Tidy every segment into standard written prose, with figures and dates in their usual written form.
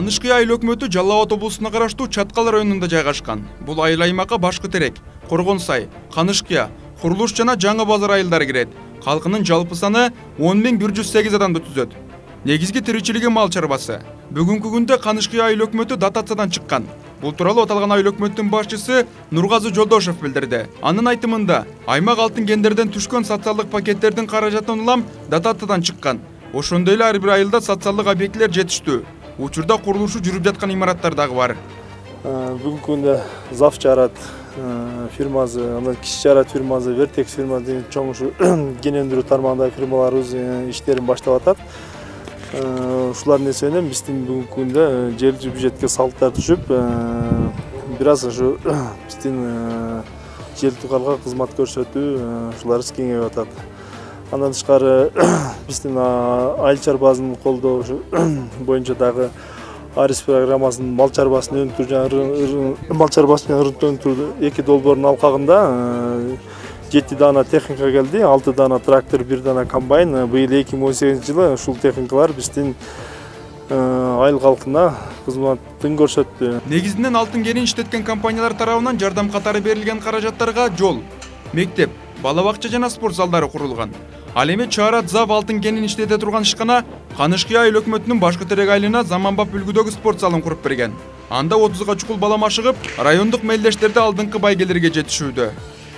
Канышкы айыл өкмөтү Жалал Абад облусуна караштуу Чаткал районунда жайгашкан. Бул айыл аймакка Башкы-Терек, Коргонсай, Канышкы, Курулуш жана Жаңы Базар айылдары кирет. Калкынын жалпы саны 10.108 адамды түзөт. Негизги тиричилиги мал чарбасы. Бүгүнкү күндө Канышкы айыл өкмөтү дотациядан чыккан. Бул тууралуу аталган айыл өкмөттүн башчысы Нургазы Жолдошев билдирди. Анын айтымында, аймак алтын кендерден түшкөн социалдык пакеттердин каражатын улам дотациядан чыккан. Ошондой эле ар бир айылда социалдык объектилер жетиштүү. Учурда курулушу жүрүп жаткан имараттар дагы бар. Бүгүнкү күндө ЗАФ жарат фирмасы, андан кичи жарат фирмасы, Вертекс фирмасы деген чоң кен өндүрүү тармагындагы фирмаларыбыз иштерин баштап атат. Ушулардын эсебинен биздин бүгүнкү күндө жергиликтүү бюджетке салыктар түшүп, бир аз ушу биздин жергиликтүү калкка кызмат көрсөтүү ушуларыбыз кеңейип атат. Андан тышкары биздин айыл чарбасын колдоо боюнча дагы Арис программасынын мал чарбасын өнүктүрүү, мал чарбасын өнүктүрүү 2 долбоордун алкагында 7 дана техника келди, 6 дана трактор, 1 дана комбайн. Быйыл 2018-жылы ушул техникалар биздин айыл калкына кызматын көрсөттү. Негизинен алтын кенин иштеткен компаниялар тарабынан жардам катары берилген каражаттарга жол, мектеп, бала бакча жана спорт залдары курулган. Ал эми Чаарат ЗАФ алтын кенин иштете турган ишкана Канышкы айыл өкмөтүнүн Башкы-Терек айылына заманбап үлгүдөгү спорт залын куруп берген. Анда 30га чукул бала машыгып, райондук мелдештерде алдыңкы байгелерге жетишүүдө.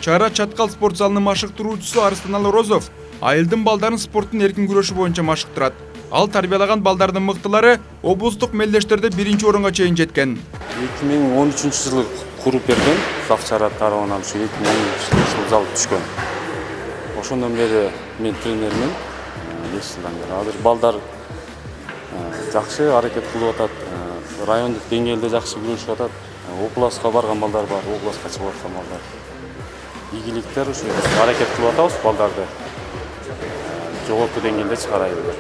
Чаарат Чаткал спорт залынын машыктыруучусу Арстанал Розов айылдын балдарын спорттун эркин күрөшү боюнча машыктырат. Ал тарбиялаган балдардын мыктылары облустук мелдештерде 1-чи орунга чейин жеткен. 2013-жылы куруп берген ЗАФ Чаарат тарабынан ушу 2013-жылы зал түшкөн. Ошондон бери мен тренермин, 5 жылдан бери. Азыр балдар жакшы аракет кылып атат, райондук деңгээлде жакшы күрөшүп атат. Областка барган балдар бар, областка чыгып аткан балдар. Ийгиликтер ушу аракет кылып атабыз балдарды жогорку деңгээлде чыгарайлы деп.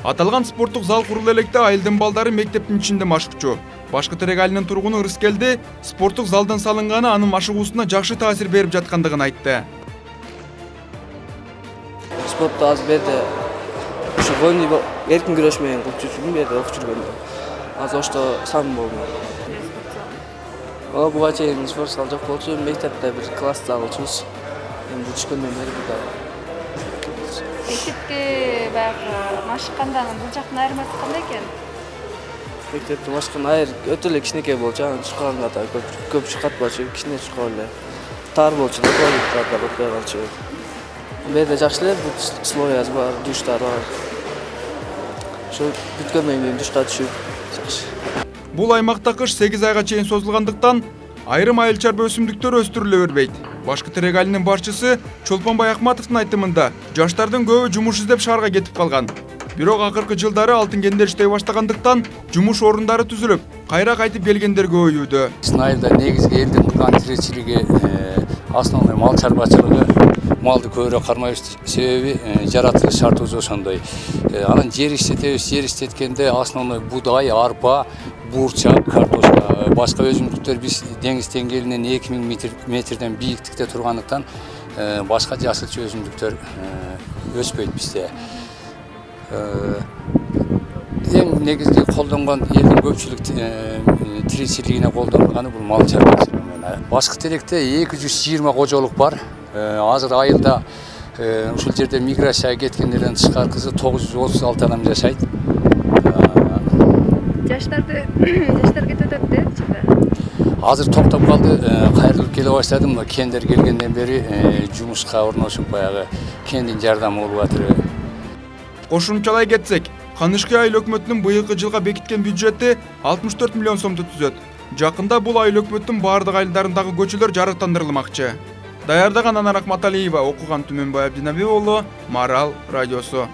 Аталган спорттук зал курулду электе айылдын балдары мектептин ичинде машыкчу. Башкы-Терек айылынын тургуну Ырыскелди спорттук залдын салынганы анын машыгуусуна жакшы таасир берип жаткандыгын айтты. Спортто азыр берде ушу волейбол эркин күрөш менен кылып жүргүм берде окуп жүргөндө. Азыр ошто сан болду. Буга чейин спорт зал жок болчу, мектепте бир класс зал алчубуз. Эми түшкөндөн бери буда. Мектепте баягы машыккандан бул жактын айырмасы кандай экен? Мектепте машыккан айыр өтө эле кичинекей болчу, анан чукканга да көп чукатпачу, кичине чуккан эле. Тар болчу, да өтпөй калчу. Берде жакшы эле, условиясы бар, душтар бар. Ошо бүткөндөн кийин душка түшүп жакшы. Бул аймакта кыш 8 айга чейин созулгандыктан айрым айыл чарба өсүмдүктөр өстүрүлө бербейт. Башкы-Терек айылынын башчысы Чолпонбай Акматовдун айтымында, жаштардын көбү жумуш издеп шаарга кетип калган. Бирок акыркы жылдары алтын кендер иштей баштагандыктан жумуш орундары түзүлүп, кайра кайтып келгендер көбөйүүдө. Биздин айылда негизги элдин кылган тиричилиги основной мал чарбачылыгы. Малды көбүрөөк кармайбыз, себеби жаратылыш шартыбыз ошондой. Анан жер иштеткенде основной будай, арпа, бурчак, картошка, башка өсүмдүктөр биз деңиз деңгээлинен 2000 метрден бийиктикте тургандыктан башка жасылчы өсүмдүктөр өспөйт бизде. Эң негизги колдонгон элдин көпчүлүк тиричилигине колдонгону бул мал чарбачылыгы. Башкы-Теректе 220 кожолук бар. Азыр айылда ушул жерде миграцияга кеткендерден тышкаркысы 936 адам жашайт. Жаштар кетип атат да ичинде. Азыр токтоп калды, кайрылып келе баштадым. Кендер келгенден бери жумушка орношуп баягы кендин жардамы болуп атыр. Кошумчалай кетсек, Канышкы айыл өкмөтүнүн быйылкы жылга бекиткен бюджети 64 миллион сомду түзөт. Жакында бул айыл өкмөттүн баардык айылдарындагы көчөлөр жарыктандырылмакчы. Даярдаган Анар Акматалиева, окуган Түмөнбай Абдинабиев уулу, Марал радиосу.